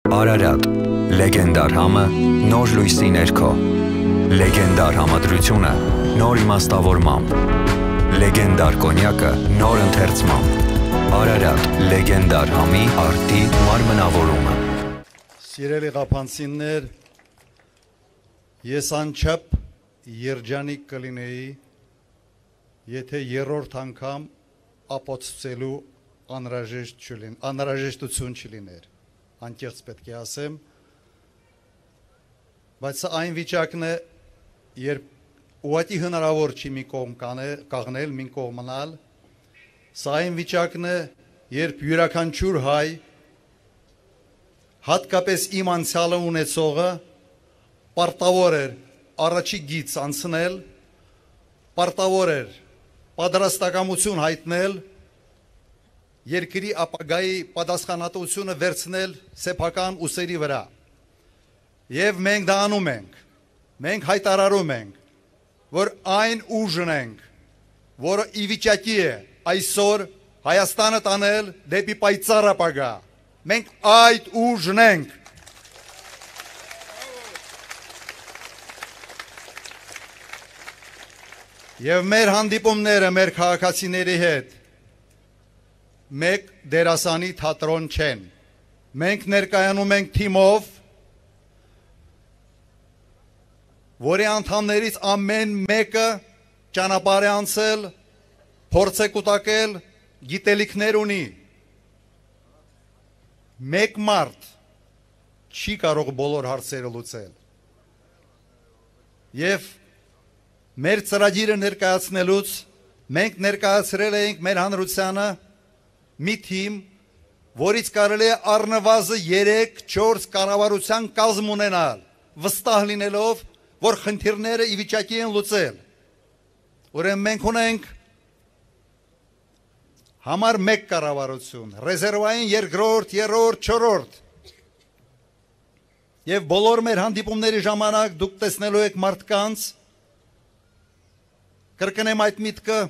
Արարատ, լեգենդար համը, նոր լույսի ներքո, լեգենդար համադրությունը, նոր իմաստավորմամբ, լեգենդար կոնյակը, նոր ընթերցմամբ, Արարատ, լեգենդար համի արտի մարմնավորումը։ Սիրելի ղափանցիներ, ես անչափ երջանիկ կլինեի, եթե երրորդ անգամ ապացուցելու անհրաժեշտություն չլիներ, անկեղծ պետք է ասեմ, բայց այն վիճակն է, երբ ուղղակի հնարավոր չի մի կողմ կաղնել, մի կողմ մնալ, սա այն վիճակն է, երբ յուրաքանչյուր հայ, հատկապես իմ անցյալը ունեցողը, պարտավոր էր առաջի գիծ անցնել, պարտավոր էր պատրաստակամություն հայտնել, երկրի ապագայի պատասխանատվությունը վերցնել սեփական ուսերի վրա։ Եվ մենք դա անում ենք, մենք հայտարարում ենք, որ այն ուժն ենք, որը ի վիճակի է այսօր Հայաստանը տանել դեպի պայծառ ապագա։ Մենք այդ ուժն ենք։ Եվ մեր հանդիպումները մեր քաղաքացիների հետ մեկ դերասանի թատրոն չեն։ Մենք ներկայանում ենք թիմով, որի անդամներից ամեն մեկը ճանապարհ է անցել, փորձ է կուտակել, գիտելիքներ ունի։ Մեկ մարդ չի կարող բոլոր հարցերը լուծել։ Եվ մեր ծրագիրը ներկայացնելուց մենք ներկայացրել ենք մեր հանրությանը մի թիմ, որից կարելի է առնվազն 3-4 կառավարության կազմ ունենալ, վստահ լինելով, որ խնդիրները ի վիճակի են լուծել։ Ուրեմն մենք ունենք համար 1 կառավարություն, ռեզերվային 2-րդ, 3-րդ, 4-րդ։ Եվ բոլոր մեր հանդիպումների ժամանակ դուք տեսնելու եք մարդկանց, կրկնեմ այդ միտքը,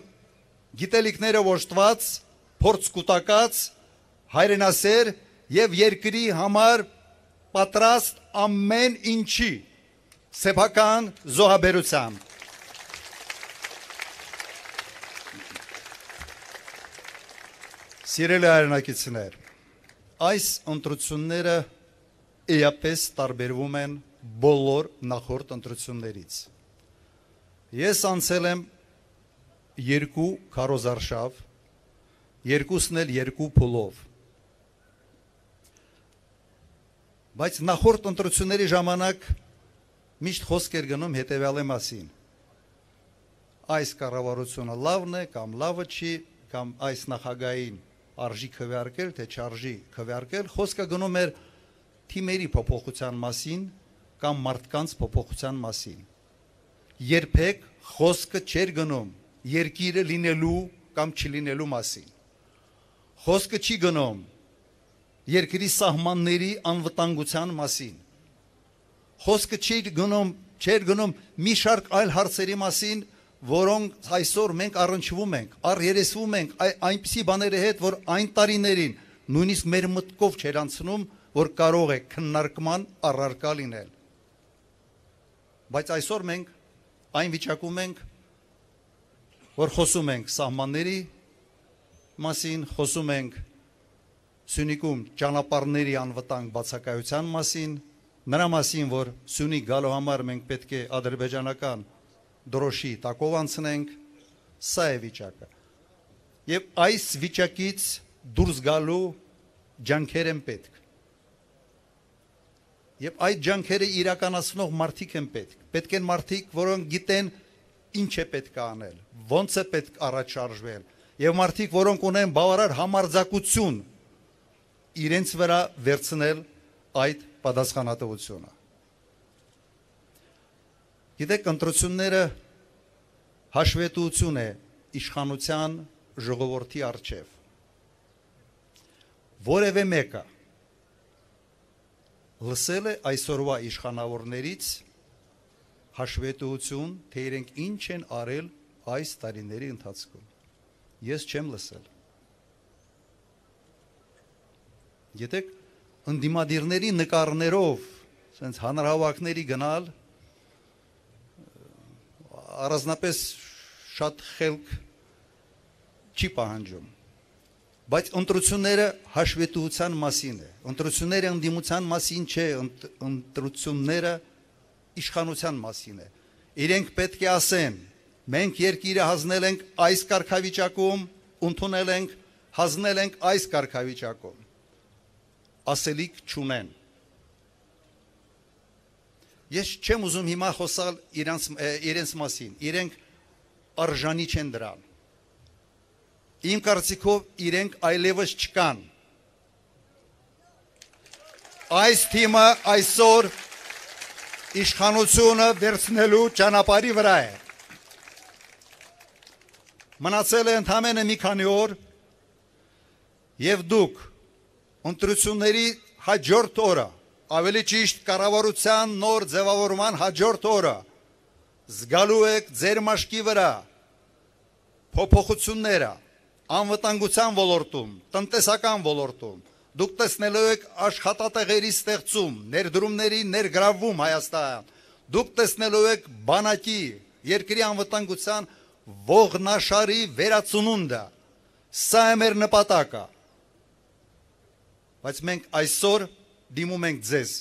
գիտելիքները ոչտված, փորձ կուտակած, հայրենասեր եւ երկրի համար պատրաստ ամեն ինչի սեփական զոհաբերությամբ։ Սիրելի հայրենակիցներ, այս ընտրությունները էապես տարբերվում են բոլոր նախորդ ընտրություններից։ Ես անցել եմ 2 քարոզարշավ, երկուսն էլ 2 փուլով։ Բայց նախորդ ընտրությունների ժամանակ միշտ խոսք էր գնում հետևյալի մասին։ Այս կառավարությունը լավն է կամ լավը չի, կամ այս նախագահին արժի քվեարկել, թե չարժի քվեարկել, խոսքը գնում էր թիմերի փոփոխության մասին կամ մարդկանց փոփոխության մասին։ Երբեք խոսքը չէր գնում երկիրը լինելու կամ չլինելու մասին։ Խոսքը չի գնում երկրի սահմանների անվտանգության մասին։ Խոսքը չէր գնում մի շարք այլ հարցերի մասին, որոնք այսօր մենք առնչվում ենք, երեսվում ենք այնպիսի բաների հետ, որ այն տարիներին նույնիսկ մեր մտքով չէր անցնում, որ կարող է քննարկման առարկա լինել։ Բայց այսօր մենք այն վիճակում ենք, որ խոսում ենք սահմանների մասին, խոսում ենք Սյունիքում ճանապարհների անվտանգ բացակայության մասին, նրա մասին, որ Սյունիք գալու համար մենք պետք է ադրբեջանական դրոշի տակով անցնենք, սա է վիճակը։ Եվ այս վիճակից դուրս գալու ջանքեր են պետք։ Եվ այդ ջանքերը իրականացնող մարդիկ են պետք։ Պետք են մարդիկ, որոնք գիտեն ինչ է պետք անել, ոնց է պետք առաջ շարժվել, եւ մարդիկ, որոնք ունեն բավարար համարձակություն իրենց վրա վերցնել այդ պատասխանատվությունը։ Գիտեք, ընտրությունները հաշվետվություն է իշխանության ժողովրդի առջև։ Որևէ մեկը լսել է այսօրվա իշխանավորներից հաշվետվություն, թե իրենք ինչ են արել այս տարիների ընթացքում։ Ես չեմ լսել։ Գիտեք, ընդդիմադիրների նկարներով sense հանրահավաքների գնալ առանձնապես շատ խելք չի պահանջում բայց ընտրությունները հաշվետվության մասին է ընտրությունները ընդդիմության մասին չէ ընտրությունները իշխանության մասին է իրենք պետք է ասեն մենք երկիրը հանձնել ենք այս կարգավիճակում ընդունել ենք հանձնել ենք այս կարգավիճակում ասելիք չունեն ես չեմ ուզում հիմա խոսալ իրենց մասին իրենք արժանի չեն դրան իմ կարծիքով իրենք այլևս չկան այս թիմը այսօր իշխանությունը վերցնելու ճանապարհի վրա է մնացել է ընդամենը մի քանի օր եւ դուք ընտրությունների հաջորդ օրը ավելի ճիշտ կառավարության նոր ձևավորման հաջորդ օրը զգալու եք ձեր մաշկի վրա փոփոխությունները անվտանգության ոլորտում, տնտեսական ոլորտում, դուք տեսնելու եք աշխատատեղերի ստեղծում, ներդրումների ներգրավում Հայաստան, դուք տեսնելու եք բանակի, երկրի անվտանգության ողնաշարի վերացնունդը, սա է մեր նպատակը, բայց մենք այսօր դիմում ենք ձեզ,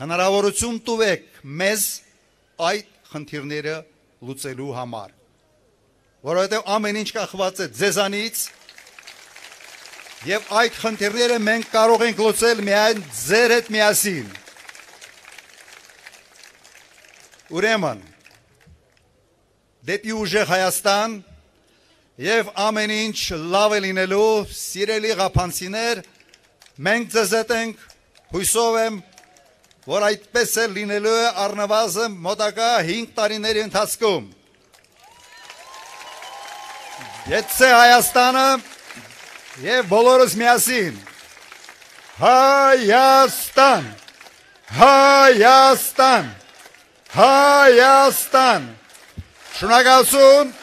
հնարավորություն տվեք մեզ այդ խնդիրները լուծելու համար, որովհետև ամեն ինչ կախված է ձեզանից եւ այդ խնդիրները մենք կարող ենք լուծել միայն ձեր հետ միասին ուրեմն դեպի ուժեղ Հայաստան եւ ամեն ինչ լավ է լինելու սիրելի ղափանցիներ մենք ձեզ հետ ենք հույսով եմ որ այդպես է լինելու է առնվազն մոտակա 5 տարիների ընթացքում Եթե Հայաստանը եւ բոլորս միասին Հայաստան Հայաստան Հայաստան Շնորհակալություն